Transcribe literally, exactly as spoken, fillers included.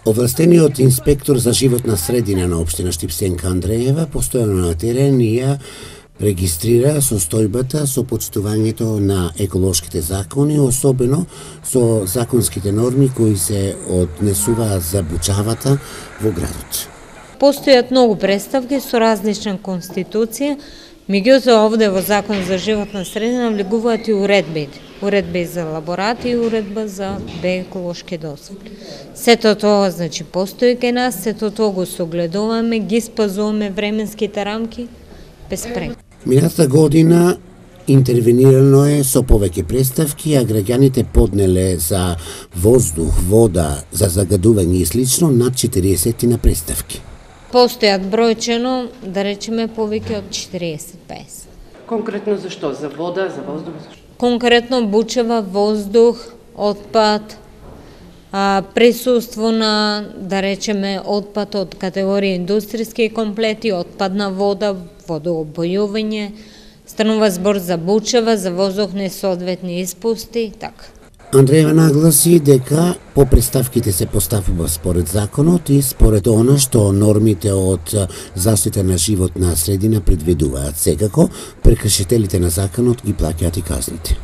Овластениот инспектор за животна средина на општина Штипсенка Андреева постојано на терен ја регистрира состојбата со почитувањето на еколошките закони, особено со законските норми кои се однесуваат за бучавата во градот. Постојат многу представки со различна конституција, меѓутоа овде во Закон за животна средина влегуваат и уредбите. Уредба за лаборати и уредба за еколошки дозволи. Сето тоа значи постои кај нас, сето тоа го согледуваме, ги спазуваме временските рамки без прек. Минатата година интервенирано е со повеќе представки, а граѓаните поднеле за воздух, вода, за загадување и слично над четириесет на представки. Постојат бројчено, да речеме, повеќе од четириесет до песет. Конкретно за што? За вода, за воздух, за што? Конкретно бучава, воздух, отпад, а, присуство на, да речеме, отпад од категорија индустријски комплети, отпадна вода, водоопојување, станува збор за бучава, за воздух несоодветни испусти, така. Андреева нагласи дека по представките се постапува според законот и според она што нормите од заштита на животна средина предвидуваат. Секако, прекршителите на законот ги плаќаат и казните.